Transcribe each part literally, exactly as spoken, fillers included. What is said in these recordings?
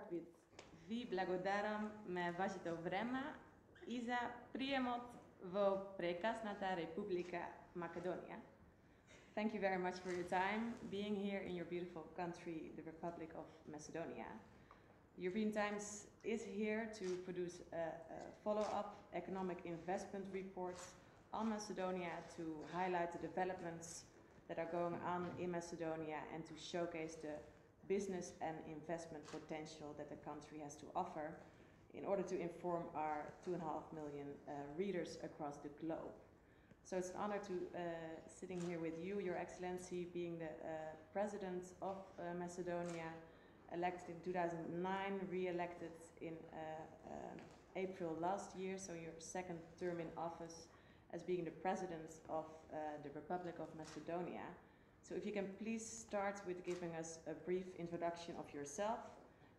start with ви благодарам ме вашето време и за приемот во прекрасната Република Македонија. Thank you very much for your time being here in your beautiful country, the Republic of Macedonia. European Times is here to produce a, a follow-up economic investment report on Macedonia to highlight the developments that are going on in Macedonia and to showcase the business and investment potential that the country has to offer in order to inform our two and a half million uh, readers across the globe. So it's an honor to uh, sitting here with you, Your Excellency, being the uh, President of uh, Macedonia, elected in two thousand nine, re-elected in uh, uh, April last year, so your second term in office as being the President of uh, the Republic of Macedonia. So if you can please start with giving us a brief introduction of yourself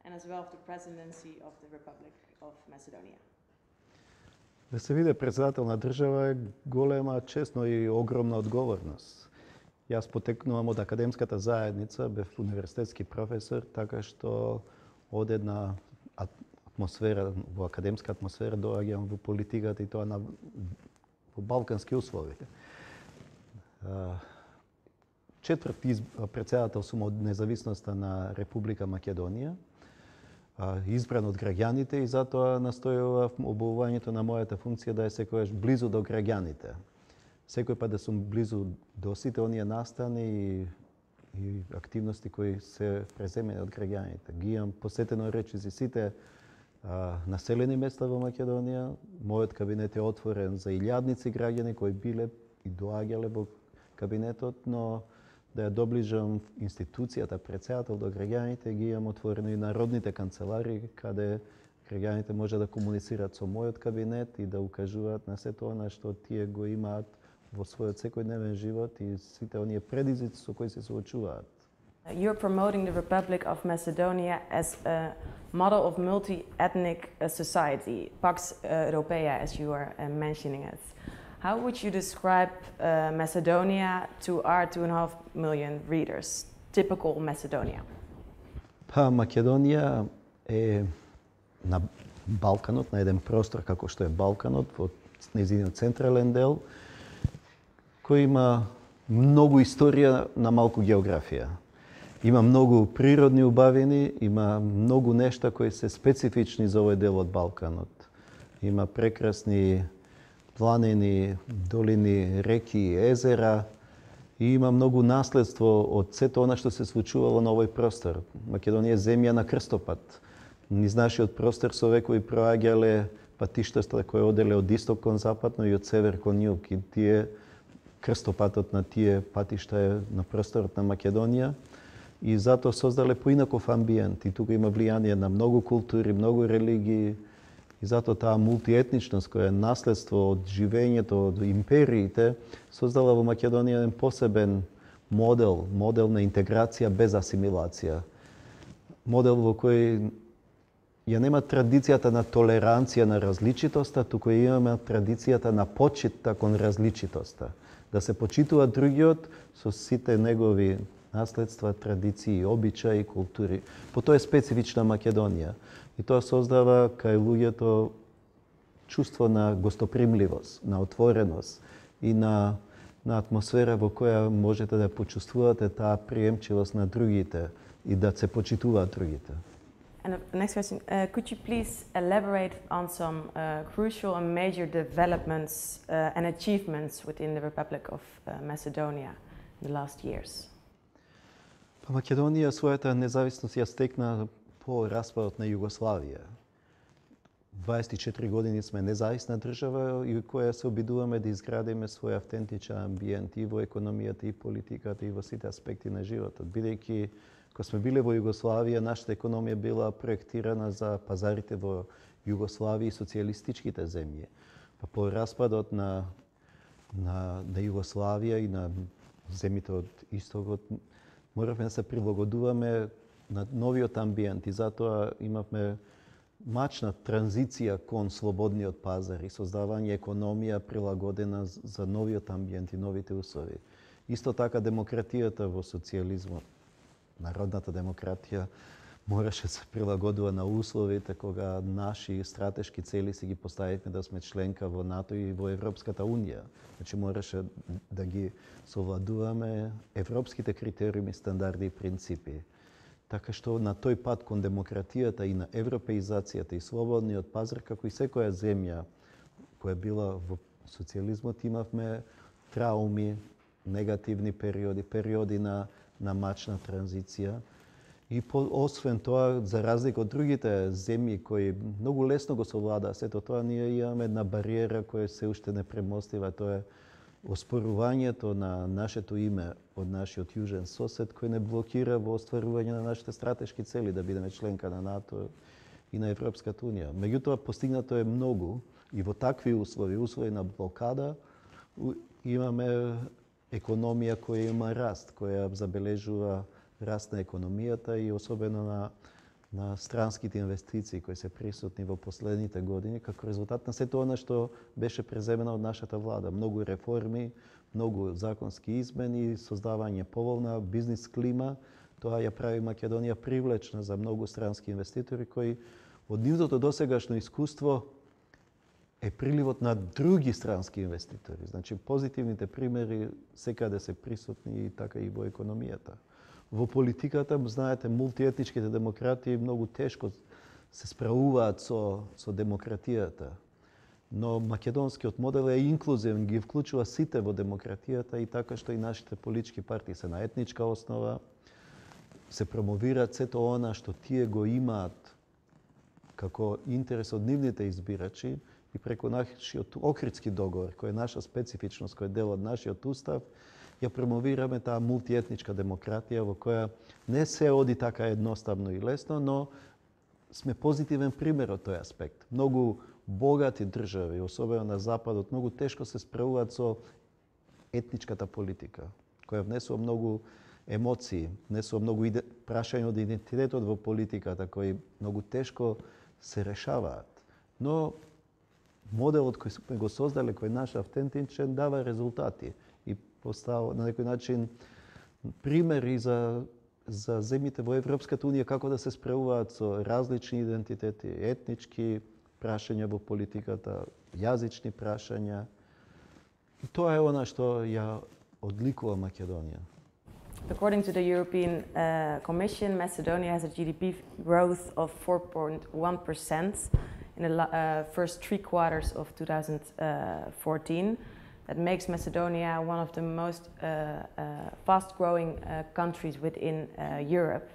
and as well of the presidency of the Republic of Macedonia. Да се биде председател на држава е голема чест, но и огромна одговорност. Јас потекнувам од академската заедница, бев универзитетски професор, така што од една атмосфера, во академска атмосфера доаѓам во политиката и тоа на во балкански услови. Четврти председател сум од независноста на Република Македонија, избран од граѓаните и затоа настојував обувувањето на мојата функција да е секогаш близу до граѓаните. Секој пат да сум близу до сите оние настани и, и активности кои се преземени од граѓаните. Ги имам посетено речи за сите а, населени места во Македонија. Мојот кабинет е отворен за илјадници граѓани кои биле и доаѓале во кабинетот, но да ја доближам институцијата председател до граѓаните, ги имам отворено и народните канцелари, каде граѓаните може да комуницираат со мојот кабинет и да укажуваат на сето она што тие го имаат во својот секојдневен живот и сите оние предизвици со кои се соочуваат. You're promoting the Republic of Macedonia as a model of multi-ethnic society, Pax Europaea, as you are mentioning it. How would you describe uh, Macedonia to our two and a half million readers? Typical Macedonia. Па Македонија е на Балканот, на еден простор како што е Балканот, во нејзиниот централен дел, кој има многу историја на малку географија. Има многу природни убавини, има многу нешта кои се специфични за овој дел од Балканот. Има прекрасни планини, долини, реки, езера и има многу наследство од сето она што се случувало на овој простор. Македонија е земја на крстопат. Низ нашиот простор со векови проаѓале патиштата кои оделе од исток кон запад, но и од север кон југ. И тие крстопатот на тие патишта е на просторот на Македонија и затоа создале поинаков амбиент. И тука има влијание на многу култури, многу религии. И затоа таа мултиетничност која е наследство од живењето од империите создала во Македонија еден посебен модел, модел на интеграција без асимилација. Модел во кој ја нема традицијата на толеранција на различитоста, туку имаме традицијата на почитта кон различитоста. Да се почитува другиот со сите негови наследства, традиции, обичаи и култури. По тоа е специфична Македонија. И тоа создава кај луѓето чувство на гостопримливост, на отвореност и на, на атмосфера во која можете да почувствувате таа приемчивост на другите и да се почитуваат другите. And the next question, uh, could you please elaborate on some uh, crucial and major developments uh, and achievements within the Republic of uh, Macedonia in the last years? Па Македонија својата независност ја стекна по распадот на Југославија. дваесет и четири години сме независна држава и која се обидуваме да изградиме свој автентичен амбиент и во економијата и политиката и во сите аспекти на животот. Бидејќи кога сме биле во Југославија, нашата економија била проектирана за пазарите во Југославија и социјалистичките земји. Па по распадот на на, на Југославија и на земјите од истокот моравме да се прилагодуваме на новиот амбиент и затоа имавме мачна транзиција кон слободниот пазар и создавање економија прилагодена за новиот амбиент и новите услови. Исто така демократијата во социјализмот, народната демократија, мораше се прилагодува на условите кога наши стратешки цели си ги поставивме да сме членка во НАТО и во Европската унија. Значи мораше да ги совладуваме европските критериуми, стандарди и принципи. Така што на тој пат кон демократијата и на европеизацијата и слободниот пазар, како и секоја земја која била во социјализмот, имавме трауми, негативни периоди, периоди на, на мачна транзиција. И по, освен тоа, за разлика од другите земји кои многу лесно го совладаа сето тоа, ние имаме една бариера која се уште не премостива, тоа е оспорувањето на нашето име од нашиот јужен сосед, кој не блокира во остварување на нашите стратешки цели да бидеме членка на НАТО и на Европската унија. Меѓутоа, постигнато е многу и во такви услови, услови на блокада, имаме економија која има раст, која забележува раст на економијата и особено на, на странските инвестиции кои се присутни во последните години, како резултат на сето она што беше преземено од нашата влада. Многу реформи, многу законски измени, создавање поволна бизнис клима, тоа ја прави Македонија привлечна за многу странски инвеститори кои од нивното досегашно искуство е приливот на други странски инвеститори. Значи, позитивните примери секаде се присутни и така и во економијата. Во политиката, знаете, мултиетничките демократи многу тешко се справуваат со, со демократијата. Но македонскиот модел е инклузивен, ги вклучува сите во демократијата и така што и нашите политички партии се на етничка основа, се промовираат сето она што тие го имаат како интерес од нивните избирачи и преку нашиот Охридски договор, кој е наша специфичност, кој е дел од нашиот устав, ја промовираме таа мултиетничка демократија во која не се оди така едноставно и лесно, но сме позитивен пример од тој аспект. Многу богати држави, особено на Западот, многу тешко се справуваат со етничката политика, која внесува многу емоции, внесува многу иде... прашања од идентитетот во политиката, кои многу тешко се решаваат. Но моделот кој сме го создале, кој е наш автентичен, дава резултати и постава на некој начин примери за, за земјите во Европската унија како да се справуваат со различни идентитети, етнички прашања во политиката, јазични прашања. И тоа е она што ја одликува Македонија. According to the European uh, Commission, Macedonia has a G D P growth of four point one percent in the uh, first three quarters of two thousand fourteen. That makes Macedonia one of the most uh, uh, fast-growing uh, countries within uh, Europe.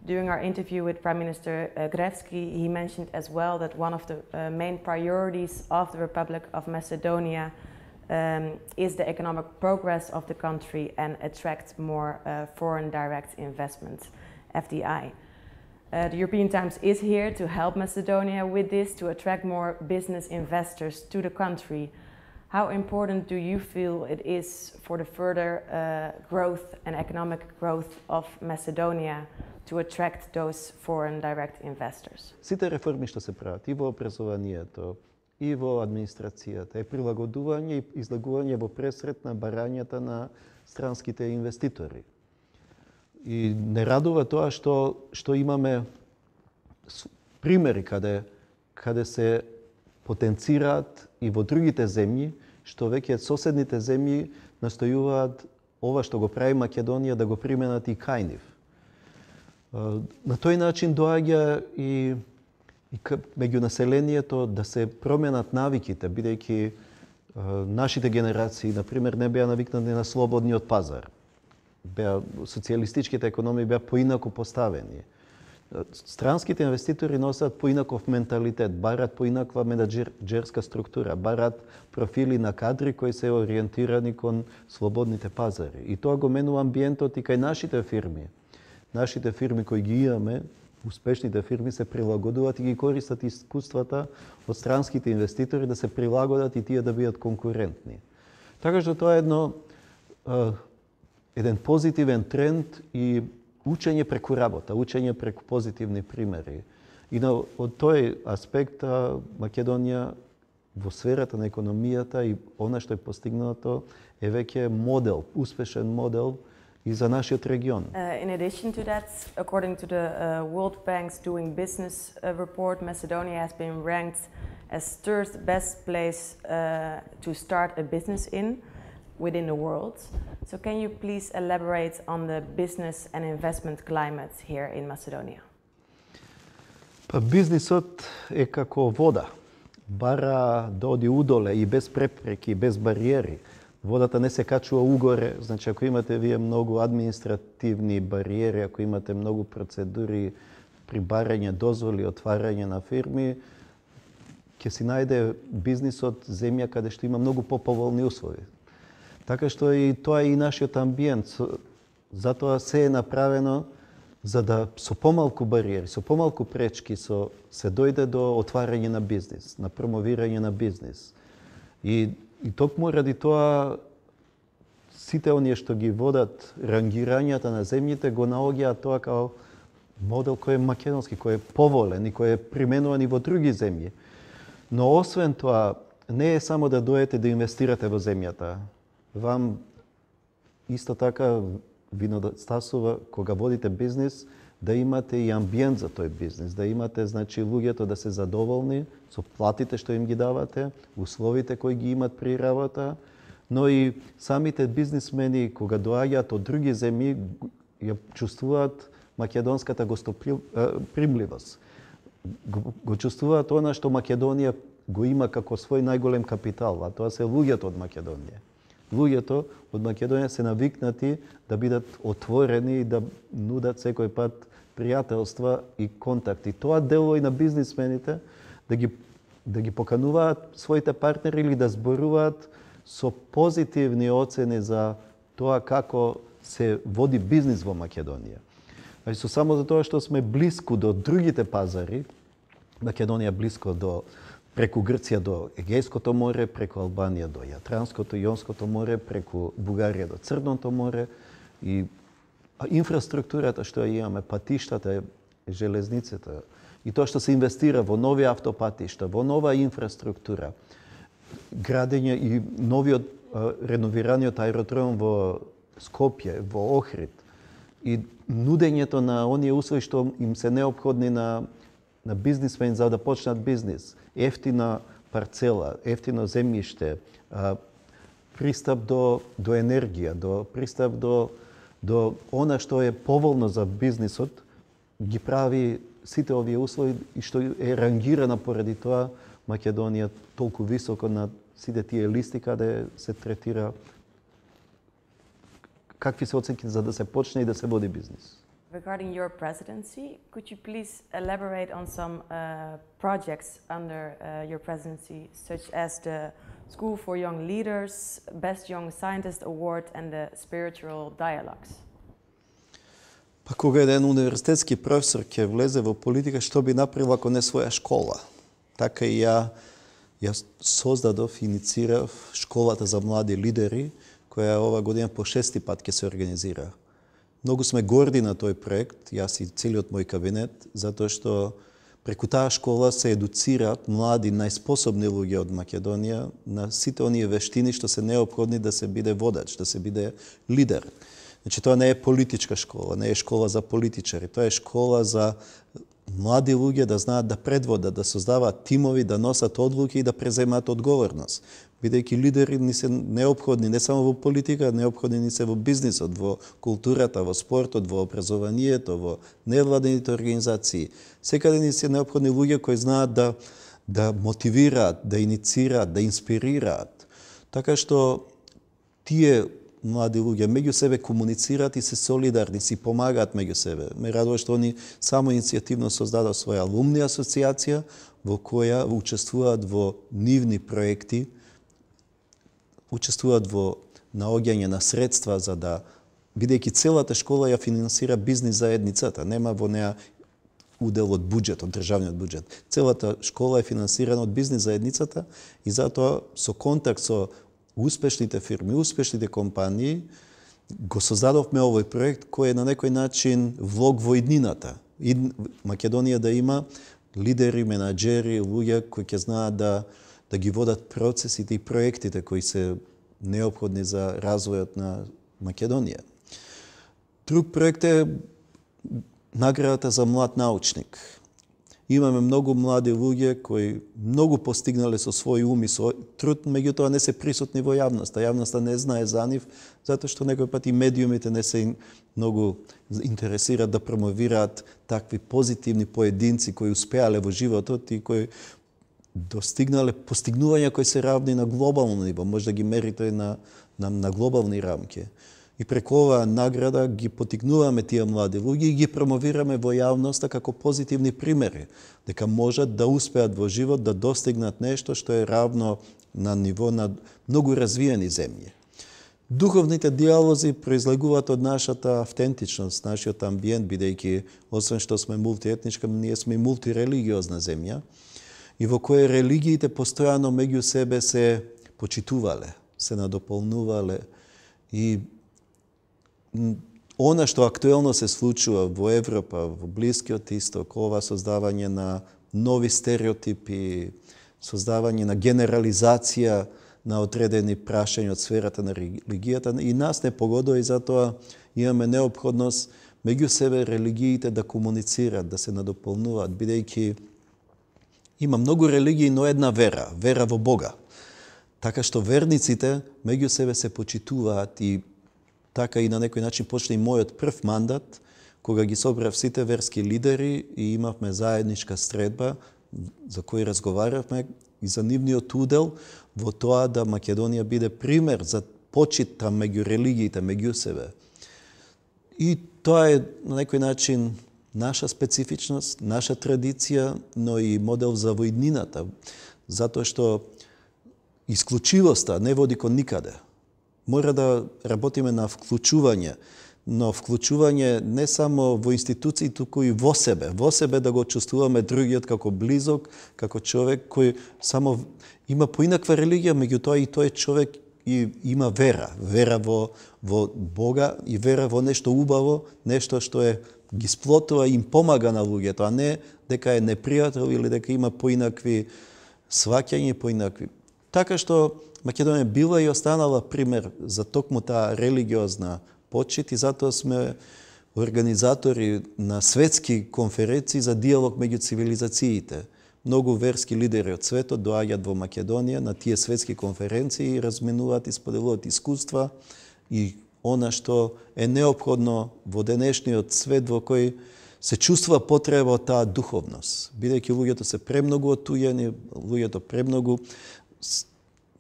During our interview with Prime Minister uh, Gruevski, he mentioned as well that one of the uh, main priorities of the Republic of Macedonia um, is the economic progress of the country and attract more uh, foreign direct investment, F D I. Uh, the European Times is here to help Macedonia with this, to attract more business investors to the country. How important do you feel it is for the further uh, growth and economic growth of Macedonia to attract those foreign direct investors? Сите реформи што се прават и во образованието, и во администрацијата е прилагодување и излагување во пресрет на барањата на странските инвеститори. И не радува тоа што што имаме примери каде каде се потенцираат и во другите земји, што веќе соседните земји настојуваат ова што го прави Македонија да го применат и кај нив. На тој начин доаѓа и, и меѓу населението да се променат навиките, бидејќи нашите генерации, например, не беа навикнати на слободниот пазар. Беа, социјалистичките економии беа поинаку поставени. Странските инвеститори носат поинаков менталитет, барат поинаква менаџерска структура, барат профили на кадри кои се ориентирани кон слободните пазари. И тоа го менува амбиентот и кај нашите фирми. Нашите фирми кои ги имаме, успешните фирми, се прилагодуваат и ги користат искуствата од странските инвеститори да се прилагодат и тие да бидат конкурентни. Така што тоа е едно, еден позитивен тренд и учење преку работа, учење преку позитивни примери. И на, од тој аспект Македонија во сферата на економијата и она што е постигнато е веќе модел, успешен модел и за нашиот регион. Uh, in addition to that, according to the uh, World Bank's Doing Business uh, report, Macedonia has been ranked as third best place uh, to start a business in within the world. So can you please elaborate on the business and investment climate here in Macedonia? Па бизнисот е како вода. Бара да оди удоле и без препреки, и без бариери. Водата не се качува угоре, значи ако имате вие многу административни бариери, ако имате многу процедури при барање дозволи, отварање на фирми, ќе си најде бизнисот земја каде што има многу поповолни услови. Така што и тоа е и нашиот амбиент. Затоа се е направено за да со помалку бариери, со помалку пречки со, се дојде до отварање на бизнис, на промовирање на бизнис. И, и токму ради тоа сите оние што ги водат рангирањата на земјите го наоѓаат тоа као модел кој е македонски, кој е поволен и кој е применуван и во други земји. Но освен тоа, не е само да дојдете да инвестирате во земјата. Вам исто така ви недостасува кога водите бизнис да имате и амбиент за тој бизнис, да имате значи луѓето да се задоволни со платите што им ги давате, условите кои ги имат при работа, но и самите бизнисмени кога доаѓаат од други земји ја чувствуваат македонската гостопримливост. Го, го чувствуваат она што Македонија го има како свој најголем капитал, а тоа се луѓето од Македонија. Луѓето од Македонија се навикнати да бидат отворени и да нудат секој пат пријателства и контакти. Тоа делува и на бизнисмените да ги, да ги покануваат своите партнери или да зборуваат со позитивни оцени за тоа како се води бизнис во Македонија. Значи, со само за тоа што сме блиску до другите пазари, Македонија блиско до преку Грција до Егејското море, преку Албанија до Јатранското и Јонското море, преку Бугарија до Црното море и инфраструктурата што ја имаме, патиштата, железницата и тоа што се инвестира во нови автопатишта, во нова инфраструктура, градење и новиот реновираниот аеродром во Скопје, во Охрид и нудењето на оние услови што им се неопходни на на бизнисмени за да почнат бизнис, ефтина парцела, ефтино земјиште, пристап до до енергија, до пристап до до она што е поволно за бизнисот, ги прави сите овие услови и што е рангирана поради тоа Македонија толку високо на сите тие листи каде се третира какви се оценки за да се почне и да се води бизнис. Regarding your presidency, could you please elaborate on some uh, projects under uh, your presidency, such as the School for Young Leaders, Best Young Scientist Award and the Spiritual Dialogues? Па кога еден универзитетски професор ќе влезе во политика, што би направил ако не своја школа? Така и ја, ја создадов, инициирав школата за млади лидери, која ова година по шести пат ќе се организира. Многу сме горди на тој проект, јас и целиот мој кабинет, затоа што преку таа школа се едуцираат млади, најспособни луѓе од Македонија на сите оние вештини што се неопходни да се биде водач, да се биде лидер. Значи, тоа не е политичка школа, не е школа за политичари, тоа е школа за млади луѓе да знаат да предводат, да создаваат тимови, да носат одлуки и да преземаат одговорност. Бидејќи лидери ни се неопходни не само во политика, неопходни ни се во бизнисот, во културата, во спортот, во образованието, во невладените организации. Секаде ни се неопходни луѓе кои знаат да да мотивираат, да иницираат, да инспирираат. Така што тие млади луѓе меѓу себе комуницираат и се солидарни, си помагаат меѓу себе. Ме радува што они само иницијативно создадоа своја алумни асоциација во која учествуваат во нивни проекти, учествуваат во наоѓање на средства за да, бидејќи целата школа ја финансира бизнис заедницата, нема во неа удел од буџет, од државниот буџет. Целата школа е финансирана од бизнис заедницата и затоа со контакт со успешните фирми, успешните компании, го создадовме овој проект кој е на некој начин влог во иднината. И Македонија да има лидери, менаџери, луѓе кои ќе знаат да да ги водат процесите и проектите кои се неопходни за развојот на Македонија. Друг проект е наградата за млад научник. Имаме многу млади луѓе кои многу постигнале со свој ум и со труд, меѓутоа не се присутни во јавноста. Јавноста не знае за нив, затоа што некој пат и медиумите не се многу интересираат да промовираат такви позитивни поединци кои успеале во животот и кои достигнале постигнувања кои се равни на глобално ниво, може да ги мерите на, на, на глобални рамки. И преку оваа награда ги потикнуваме тие млади луѓе и ги промовираме во јавноста како позитивни примери, дека можат да успеат во живот да достигнат нешто што е равно на ниво на многу развиени земји. Духовните диалози произлегуваат од нашата автентичност, нашиот амбиент, бидејќи освен што сме мултиетничка, ние сме и мултирелигиозна земја, и во која религиите постојано меѓу себе се почитувале, се надополнувале и она што актуелно се случува во Европа, во Блискиот Исток, ова создавање на нови стереотипи, создавање на генерализација на одредени прашања од сферата на религијата, и нас не погодува и затоа имаме неопходност меѓу себе религиите да комуницираат, да се надополнуваат, бидејќи има многу религии, но една вера, вера во Бога. Така што верниците меѓу себе се почитуваат и така и на некој начин почне и мојот прв мандат, кога ги собрав сите верски лидери и имавме заедничка средба за кој разговаравме и за нивниот удел во тоа да Македонија биде пример за почит меѓу религиите, меѓу себе. И тоа е на некој начин наша специфичност, наша традиција, но и модел за војнината, затоа што исклучивоста не води кон никаде. Мора да работиме на вклучување, но вклучување не само во институции, туку и во себе. Во себе да го чувствуваме другиот како близок, како човек кој само има поинаква религија, меѓутоа и тој човек и има вера. Вера во, во Бога и вера во нешто убаво, нешто што е ги сплотува и им помага на луѓето, а не дека е непријател или дека има поинакви сваќања и поинакви. Така што Македонија била и останала пример за токму таа религиозна почит и затоа сме организатори на светски конференции за диалог меѓу цивилизациите. Многу верски лидери од светот доаѓаат во Македонија на тие светски конференции и разменуваат и споделуваат искуства и она што е неопходно во денешниот свет во кој се чувствува потреба од таа духовност. Бидејќи луѓето се премногу отујени, луѓето премногу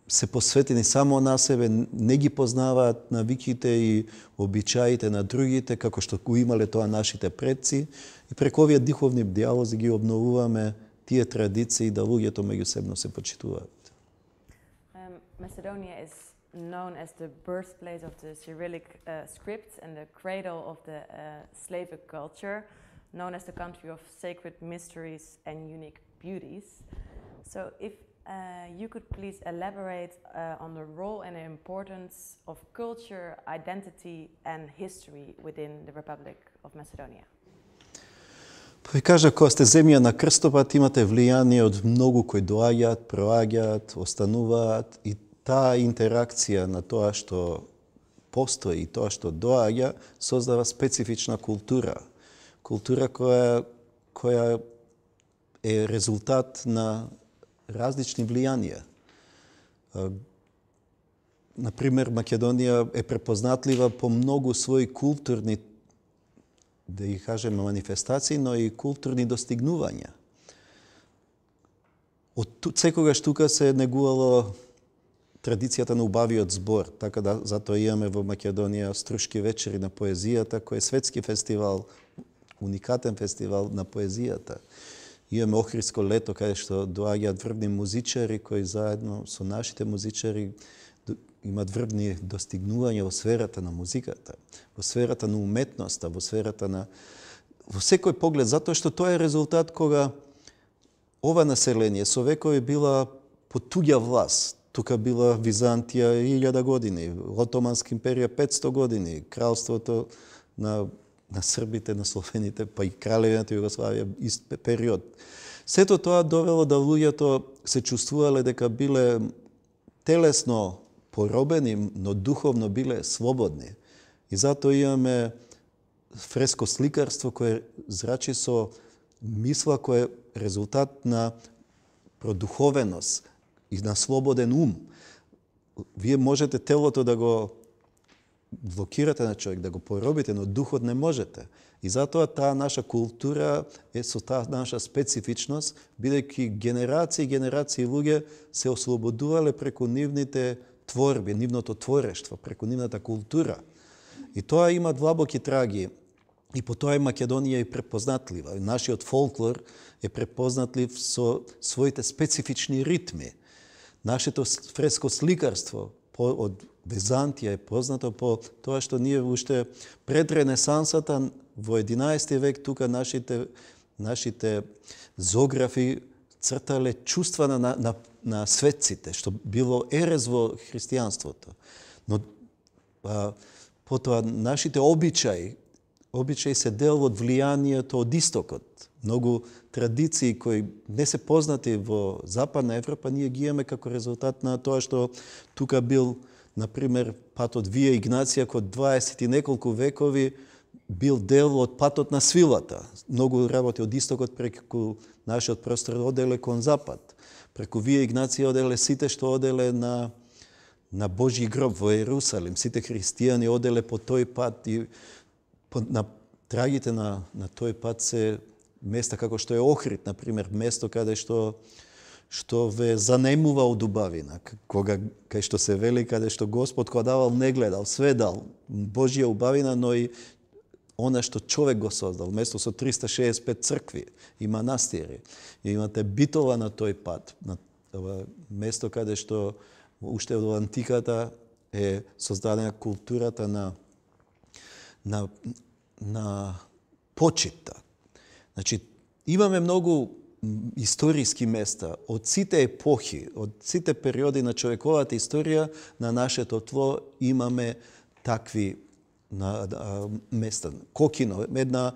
се посветени само на себе, не ги познаваат навиките и обичаите на другите, како што го имале тоа нашите предци. И преку овие духовни диалози ги обновуваме тие традиции да луѓето меѓусебно се почитуваат. Um, Macedonia is known as the birthplace of the Cyrillic uh, script and the cradle of the uh, Slavic culture, known as the country of sacred mysteries and unique beauties. So if Uh, you could please elaborate uh, on the role and the importance of culture, identity and history within the Republic of Macedonia. Па ви кажа, кога сте земја на крстопат, имате влијание од многу кои доаѓаат, проаѓаат, остануваат и таа интеракција на тоа што постои и тоа што доаѓа создава специфична култура. Култура која, која е резултат на различни влијанија. Например, Македонија е препознатлива по многу своји културни, да ги кажеме, манифестации, но и културни достигнувања. Од секогаш тука се негувало традицијата на убавиот збор, така да затоа имаме во Македонија Струшки вечери на поезијата, кој е светски фестивал, уникатен фестивал на поезијата. Имаме Охридско лето, каде што доаѓаат врвни музичари кои заедно со нашите музичари имат врвни достигнувања во сферата на музиката, во сферата на уметноста, во сферата на во секој поглед, затоа што тоа е резултат кога ова население со векови била под туѓа власт. Тука била Византија илјада години, Отоманска империја петсто години, кралството на на србите, на словените, па и кралевината Југославија, ист период. Сето тоа довело да луѓето се чувствувале дека биле телесно поробени, но духовно биле слободни. И затоа имаме фреско сликарство кое зрачи со мисла која е резултат на продуховеност и на слободен ум. Вие можете телото да го блокирате на човек, да го поробите, но духот не можете. И затоа таа наша култура е со таа наша специфичност, бидејќи генерации и генерации луѓе се ослободувале преку нивните творби, нивното творештво, преку нивната култура. И тоа има длабоки траги. И по тоа и Македонија е препознатлива. Нашиот фолклор е препознатлив со своите специфични ритми. Нашето фреско сликарство од Византија е познато по тоа што ние уште пред Ренесансата во единаесети век тука нашите нашите зографи цртале чувства на, на, на светците, што било ерез во христијанството. Но а, потоа нашите обичаи, обичаи се дел од влијанието од истокот. Многу традиции кои не се познати во Западна Европа, ние ги имаме како резултат на тоа што тука бил, например, патот Вија Игнација код дваесет и неколку векови бил дел од патот на свилата. Многу работи од истокот преку нашиот простор оделе кон запад. Преку Вија Игнација оделе сите што оделе на на Божји гроб во Ерусалим. Сите христијани оделе по тој пат и по, на трагите на на тој пат се места како што е Охрид, например, место каде што што ве занемува од убавина, кога кај што се вели каде што Господ кога давал не гледал, све дал, Божја убавина, но и она што човек го создал, место со триста шеесет и пет цркви и манастири. И имате битова на тој пат, на ова место каде што уште од антиката е создадена културата на на на почита. Значи, имаме многу историски места од сите епохи, од сите периоди на човековата историја на нашето тло имаме такви на, а, места. Кокино, една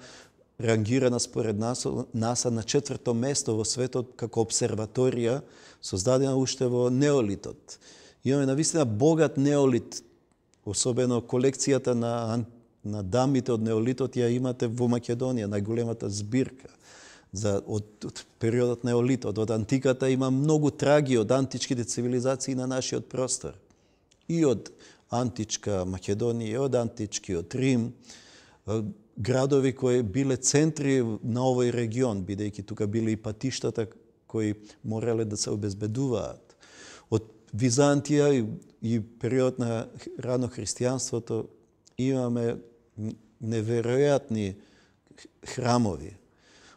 рангирана според нас, НАСА на четврто место во светот како обсерваторија, создадена уште во неолитот. Имаме навистина богат неолит, особено колекцијата на, на дамите од неолитот ја имате во Македонија, најголемата збирка. За, од, од периодот неолитот, од антиката има многу траги од античките цивилизации на нашиот простор. И од античка Македонија, и од античкиот Рим, градови кои биле центри на овој регион, бидејќи тука биле и патиштата кои морале да се обезбедуваат. Од Византија и, и период на рано христијанството имаме неверојатни храмови.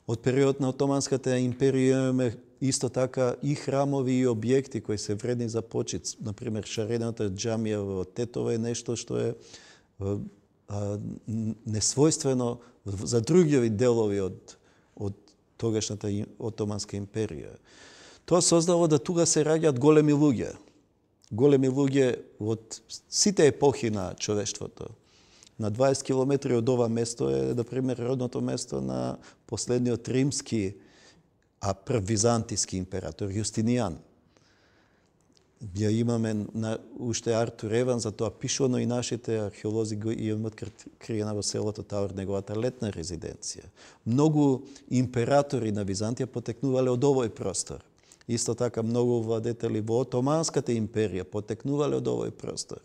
Од период на Отоманската империја имаме исто така и храмови и објекти кои се вредни за почит. Например, шарената џамија во Тетово е нешто што е а, несвојствено за други делови од, од тогашната Отоманска империја. Тоа создало да тука се раѓаат големи луѓе. Големи луѓе од сите епохи на човештвото. На дваесет километри од ова место е, например, родното место на последниот римски, а прв византиски император, Јустинијан. Ја имаме на, уште Артур Еван, за тоа пишано и нашите археолози го имаат откриена во селото Тавор, неговата летна резиденција. Многу императори на Византија потекнувале од овој простор. Исто така многу владетели во Отоманската империја потекнувале од овој простор.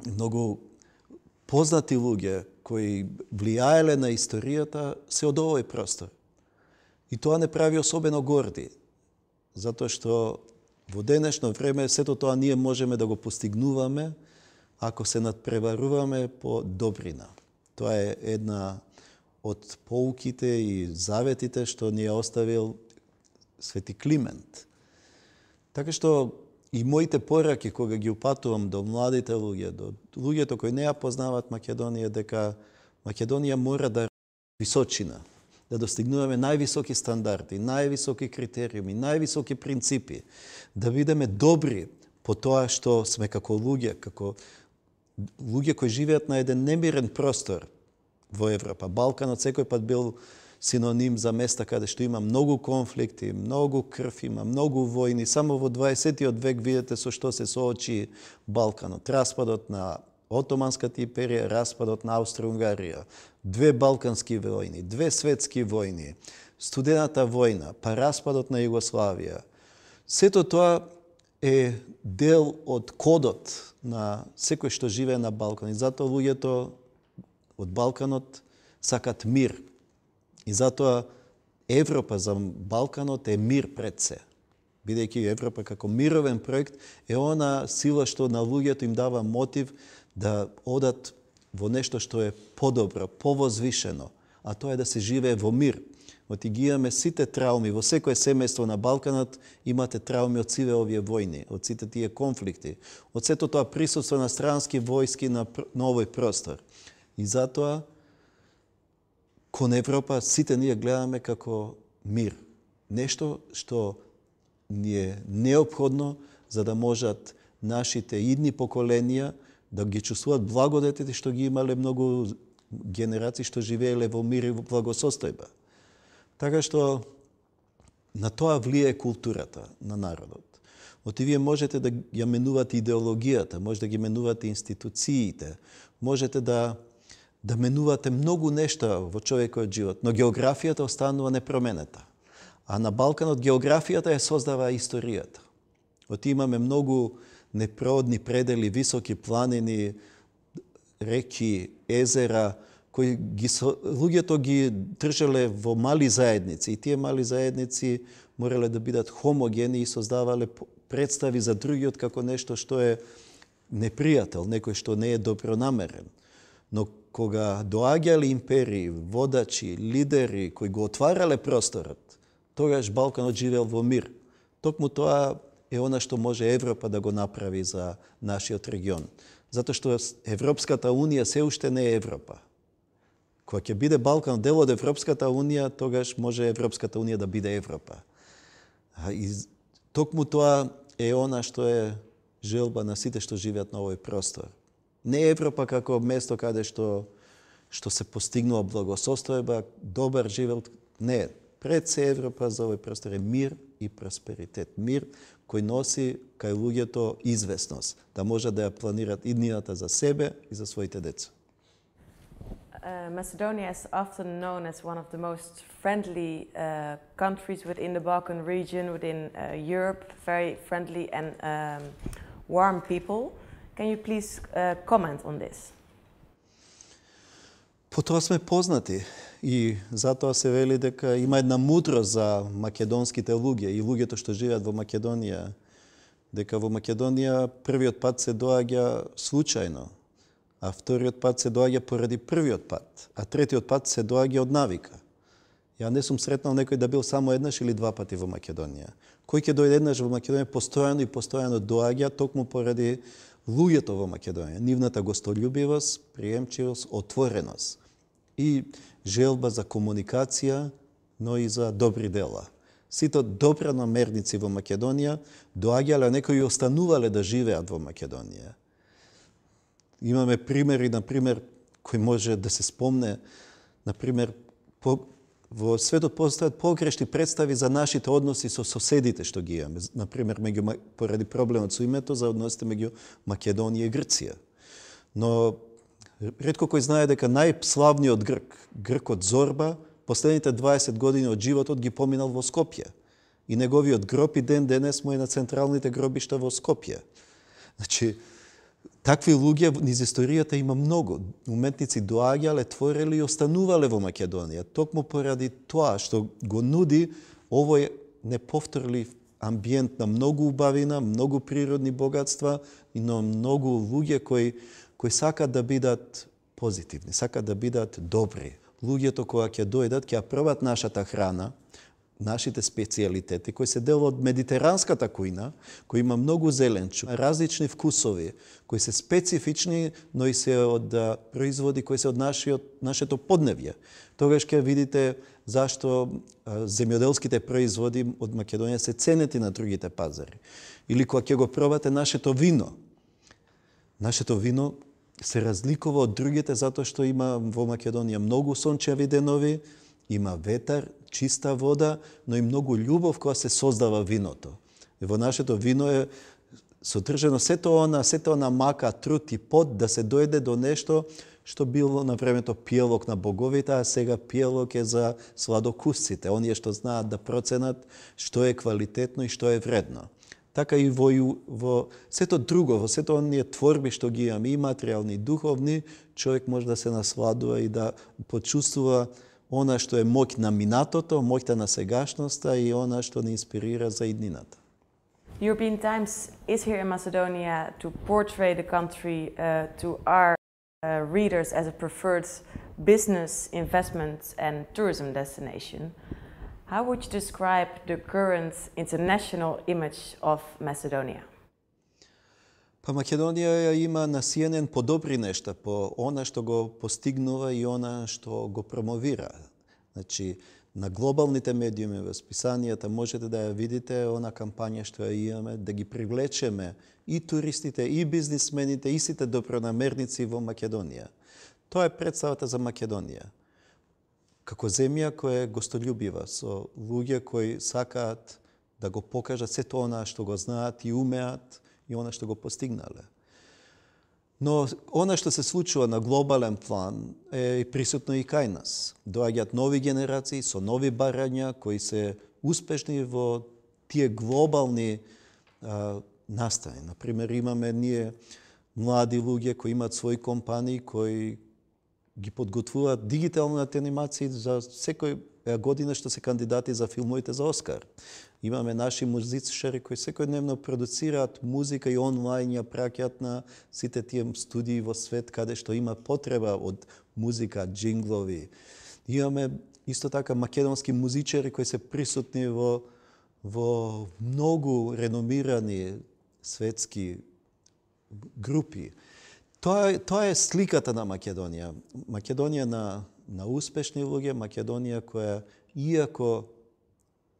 Многу познати луѓе кои влијаеле на историјата се од овој простор. И тоа не прави особено горди, затоа што во денешно време сето тоа ние можеме да го постигнуваме ако се надпреваруваме по добрина. Тоа е една од поуките и заветите што ни е оставил Свети Климент. Така што и моите пораки кога ги упатувам до младите луѓе, до луѓето кои не ја познаваат Македонија, дека Македонија мора да височина, да достигнуваме највисоки стандарди, највисоки критериуми, највисоки принципи, да бидеме добри по тоа што сме како луѓе, како луѓе кои живеат на еден немирен простор во Европа. Балканот секој пат бил синоним за места каде што има многу конфликти, многу крв, има многу војни. Само во дваесетиот век видете со што се соочи Балканот. Распадот на Отоманската империја, распадот на Австро-Унгарија, две балкански војни, две светски војни, студената војна, па распадот на Југославија. Сето тоа е дел од кодот на секој што живее на Балкан. И затоа луѓето од Балканот сакат мир. И затоа Европа за Балканот е мир пред се. Бидејќи Европа како мировен проект е она сила што на луѓето им дава мотив да одат во нешто што е подобро, повозвишено, а тоа е да се живее во мир. Оти ги имаме сите трауми, во секое семејство на Балканот имате трауми од сиве овие војни, од сите тие конфликти, од сето тоа присуство на странски војски на, на овој простор. И затоа кон Европа сите ние гледаме како мир. Нешто што ни е неопходно за да можат нашите идни поколенија да ги чувствуваат благодетите што ги имале многу генерации што живееле во мир и во благосостојба. Така што на тоа влие културата на народот. Оти вие можете да ја менувате идеологијата, може да ги менувате институциите, можете да да менувате многу нешта во човекот живот, но географијата останува непроменета. А на Балканот географијата ја создава историјата. Оти имаме многу непроодни предели, високи планини, реки, езера, кои ги, луѓето ги држале во мали заедници. И тие мали заедници морале да бидат хомогени и создавале представи за другиот како нешто што е непријател, некој што не е добронамерен. Но кога доаѓале империи, водачи, лидери кои го отварале просторот, тогаш Балканот живеел во мир. Токму тоа е она што може Европа да го направи за нашиот регион. Затоа што Европската унија се уште не е Европа. Кога ќе биде Балкан дел од Европската унија, тогаш може Европската унија да биде Европа. И токму тоа е она што е желба на сите што живеат на овој простор. Не Европа како место каде што што се постигнува благосостојба, добар живот, не. Пред се Европа за овој простор е мир и просперитет. Мир кој носи кај луѓето известност, да може да ја планират иднината за себе и за своите деца. Uh, Macedonia is often known as one of the most friendly uh, countries within the Balkan region, within uh, Europe, very friendly and um, warm people. Can you please uh, comment on this? По тоа сме познати и затоа се вели дека има една мудрост за македонските луѓе и луѓето што живеат во Македонија, дека во Македонија првиот пат се доаѓа случајно, а вториот пат се доаѓа поради првиот пат, а третиот пат се доаѓа од навика. Ја не сум сретнал некој да бил само еднаш или два пати во Македонија. Кој ќе дојде еднаш во Македонија постојано и постојано доаѓа токму поради луѓето во Македонија, нивната гостољубивост, приемчивост, отвореност и желба за комуникација, но и за добри дела. Сите добронамерници во Македонија доаѓале, а некои останувале да живеат во Македонија. Имаме примери, например, кој може да се спомне, например, по, во светот постојат погрешни представи за нашите односи со соседите што ги имаме. Например, меѓу, поради проблемот со името за односите меѓу Македонија и Грција. Но ретко кој знае дека најславниот грк, гркот Зорба, последните дваесет години од животот ги поминал во Скопје. И неговиот гроб и ден денес му е на централните гробишта во Скопје. Значи, такви луѓе низ историјата има многу. Уметници доаѓале, твореле и останувале во Македонија. Токму поради тоа што го нуди овој неповторлив амбиент на многу убавина, многу природни богатства и на многу луѓе кои кои сакат да бидат позитивни, сакат да бидат добри. Луѓето кога ќе дојдат, ќе ја пробат нашата храна, нашите специјалитети, кои се дел од медитеранската кујна, кој има многу зеленчу, различни вкусови, кои се специфични, но и се од производи кои се од нашиот, нашето подневје. Тогаш ќе видите зашто земјоделските производи од Македонија се ценети на другите пазари. Или кога ќе го пробате нашето вино. Нашето вино се разликува од другите затоа што има во Македонија многу сончеви денови, има ветар, чиста вода, но и многу љубов која се создава виното. И во нашето вино е содржано сето она, сето она мака, труд и пот да се дојде до нешто што било на времето пиелок на боговите, а сега пиелок е за сладокусците, оние што знаат да проценат што е квалитетно и што е вредно. Така и во, во сето друго, во сето оние творби што ги имаме, и материјални, и духовни, човек може да се насладува и да почувствува она што е моќ на минатото, моќта на сегашноста и она што ни инспирира за иднината. European Times is here in Macedonia to portray the country uh, to our uh, readers as a preferred business, investment and tourism destination. How would you describe the current international image of Macedonia? Па Македонија има на Си Ен Ен подобри нешта по она што го постигнува и она што го промовира. Значи, на глобалните медиуми, во списанијата, можете да ја видите она кампања што ја имаме, да ги привлечеме и туристите, и бизнисмените, и сите добронамерници во Македонија. Тоа е представата за Македонија. Како земја која е гостолюбива, со луѓе кои сакаат да го покажат сето она што го знаат и умеат и она што го постигнале. Но она што се случува на глобален план е присутно и кај нас. Доаѓаат нови генерации со нови барања кои се успешни во тие глобални а, настани. Например, имаме ние млади луѓе кои имаат своји компании кои ги подготвуваат дигитални анимации за секој година што се кандидати за филмовите за Оскар. Имаме наши музичари кои секојдневно продуцираат музика и онлайн ја праќаат на сите тие студии во свет каде што има потреба од музика, джинглови. Имаме исто така македонски музичари кои се присутни во во многу реномирани светски групи. Тоа, тоа е сликата на Македонија. Македонија на, на успешни луѓе, Македонија која, иако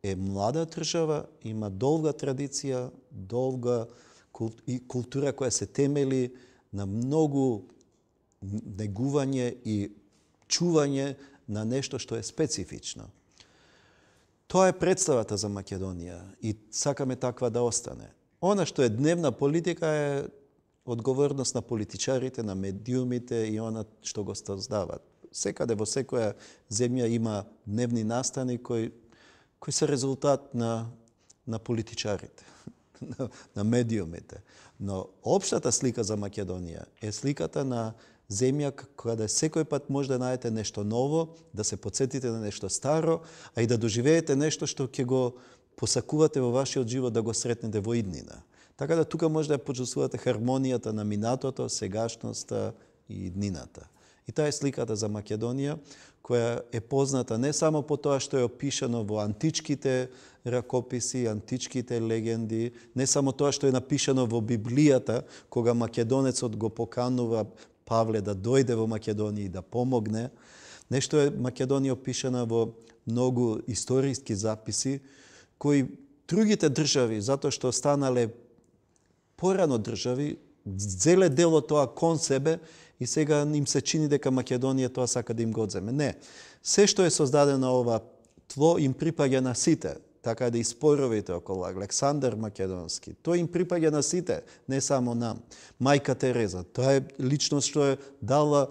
е млада држава, има долга традиција, долга и култура која се темели на многу негување и чување на нешто што е специфично. Тоа е представата за Македонија и сакаме таква да остане. Она што е дневна политика е одговорност на политичарите, на медиумите и она што го создават. Секаде во секоја земја има дневни настани кои, кои се резултат на, на политичарите, на, на медиумите. Но општата слика за Македонија е сликата на земја каде секој пат може да најдете нешто ново, да се потсетите на нешто старо, а и да доживеете нешто што ќе го посакувате во вашиот живот да го сретнете во иднина. Така да тука може да почувствувате хармонијата на минатото, сегашноста и иднината. И таа е сликата за Македонија, која е позната не само по тоа што е опишано во античките ракописи, античките легенди, не само тоа што е напишано во Библијата, кога македонецот го поканува Павле да дојде во Македонија и да помогне. Нешто е Македонија опишана во многу историски записи, кои другите држави, затоа што станале порано држави, зеле дело тоа кон себе и сега им се чини дека Македонија тоа сака да им го одземе. Не. Се што е создадено ова тло им припаѓа на сите. Така да и споровите околу Александар Македонски. Тој им припаѓа на сите, не само нам. Мајка Тереза, тоа е личност што е дала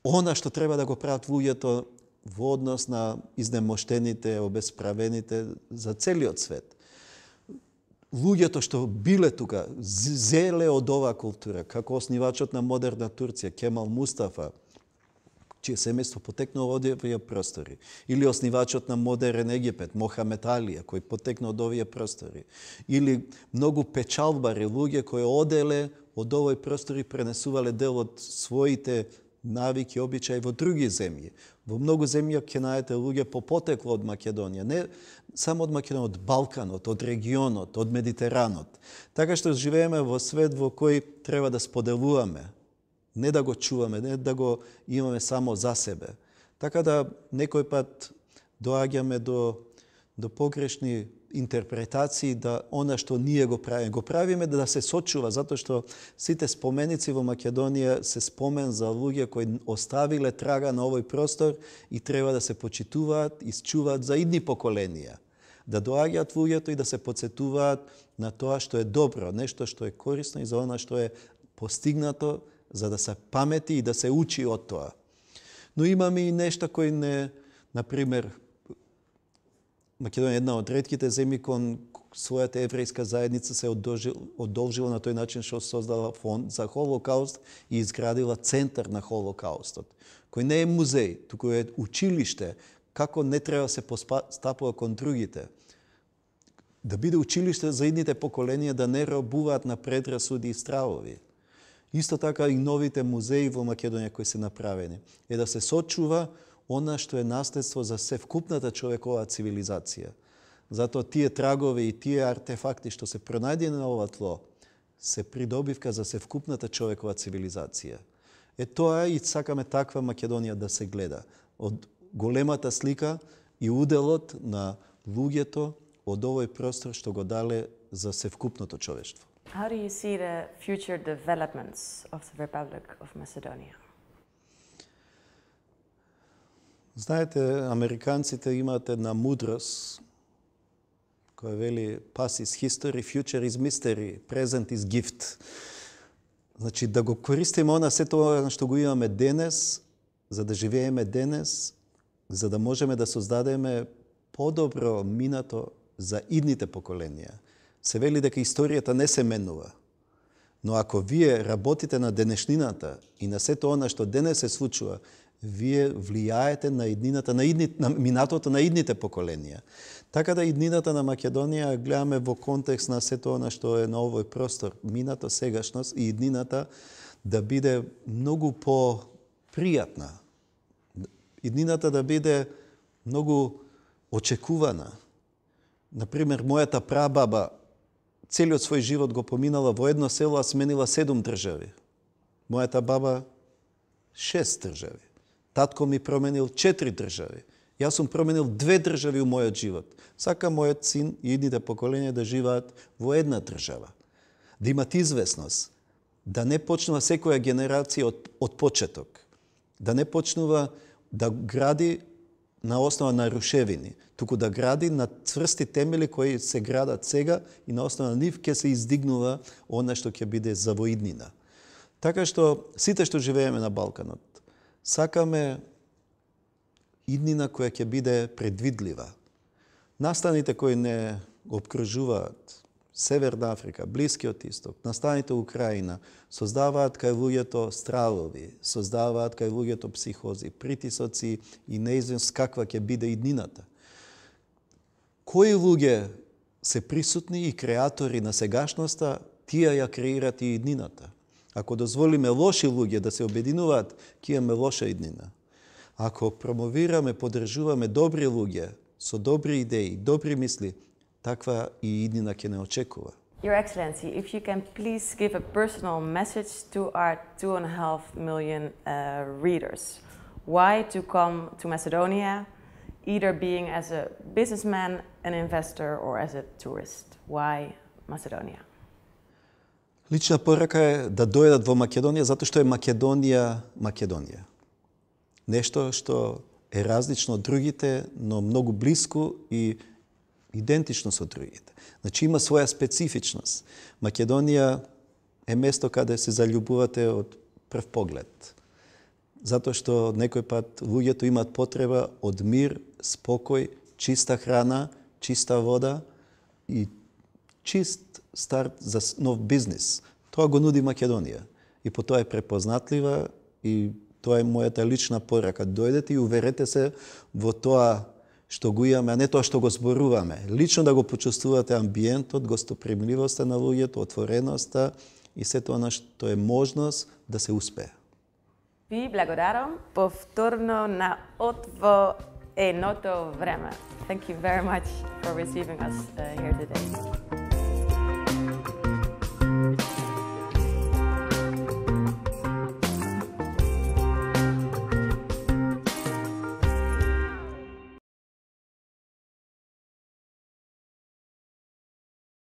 она што треба да го прават луѓето во однос на изнемоштените, обесправените за целиот свет. Луѓето што биле тука, зеле од оваа култура, како оснивачот на модерна Турција, Кемал Мустафа, чие семејство потекнало од овие простори, или оснивачот на модерен Египет, Мохамед Алија, кој потекна од овие простори, или многу печалбари, луѓе кои оделе од овој простори пренесувале дел од своите навики, обичаи во други земји. Во многу земји ќе најдете луѓе по потекло од Македонија, не само од Македонија, од Балканот, од регионот, од Медитеранот. Така што живееме во свет во кој треба да споделуваме, не да го чуваме, не да го имаме само за себе. Така да некој пат доаѓаме до, до погрешни интерпретации да она што ние го правиме, го правиме да се сочува, затоа што сите споменици во Македонија се спомен за луѓе кои оставиле трага на овој простор и треба да се почитуваат и счуваат за идни поколенија. да доаѓаат луѓето и да се потсетуваат на тоа што е добро, нешто што е корисно и за она што е постигнато, за да се памети и да се учи од тоа. Но имаме и нешта кои не, например, Македонија е една од ретките земји кон својата еврејска заедница се одолжила на тој начин што создала фонд за Холокауст и изградила центар на Холокаустот, кој не е музеј, туку е училиште, како не треба се постапува кон другите. Да биде училиште за идните поколенија да не робуваат на предрасуди и стравови. Исто така и новите музеи во Македонија кои се направени е да се сочува она што е наследство за севкупната човекова цивилизација. Затоа тие трагови и тие артефакти што се пронајдени на ова тло се придобивка за севкупната човекова цивилизација. Е тоа и сакаме таква Македонија да се гледа. Од големата слика и уделот на луѓето од овој простор што го дале за севкупното човештво. How do you see the future developments of the Republic of Macedonia? Знаете, американците имаат една мудрост која вели past is history, future is mystery, present is gift. Значи, да го користиме она се тоа што го имаме денес, за да живееме денес, за да можеме да создадеме подобро минато за идните поколенија. Се вели дека историјата не се менува. Но ако вие работите на денешнината и на сето она што денес се случува, вие влијаете на иднината, на, идни, на минатото на идните поколенија. Така да иднината на Македонија гледаме во контекст на сето она што е на овој простор, минато, сегашност и иднината да биде многу по-пријатна. Иднината да биде многу очекувана. Например, мојата прабаба целиот свој живот го поминала во едно село, а сменила седум држави. Мојата баба шест држави. Татко ми променил четири држави. Јас сум променил две држави у мојот живот. Сакам мојот син и идните поколенија да живеат во една држава. Да имат известност. Да не почнува секоја генерација од, од почеток. Да не почнува да гради на основа на рушевини, туку да гради на цврсти темели кои се градат сега и на основа на нив ќе се издигнува она што ќе биде за во иднина. Така што сите што живееме на Балканот, сакаме иднина која ќе биде предвидлива. Настаните кои не обкружуваат Северна Африка, Блискиот Исток, настаните Украина, создаваат кај луѓето стравови, создаваат кај луѓето психози, притисоци и неизвестност каква ќе биде иднината. Кои луѓе се присутни и креатори на сегашноста, тие ја креират и иднината. Ако дозволиме лоши луѓе да се обединуваат, ќе имаме лоша иднина. Ако промовираме, поддржуваме добри луѓе со добри идеи, добри мисли, таква и иднина ќе не очекува. Your Excellency, if you can please give a personal message to our two and a half million uh, readers. Why to come to Macedonia, either being as a businessman, an investor, or as a tourist? Why Macedonia? Лична порака е да дојдат во Македонија затоа што е Македонија Македонија. Нешто што е различно од другите, но многу блиску и идентично со другите. Значи има своја специфичност. Македонија е место каде се заљубувате од прв поглед. Затоа што некој пат луѓето имаат потреба од мир, спокој, чиста храна, чиста вода и чист старт за нов бизнис. Тоа го нуди Македонија. И по тоа е препознатлива и тоа е мојата лична порака. Дојдете и уверете се во тоа што го имаме, а не тоа што го зборуваме. Лично да го почувствувате амбиентот, гостопримливоста на луѓето, отвореноста и сето она што е можност да се успее. Ви благодарам повторно на отво еното време. Thank you very much for receiving us uh, here today.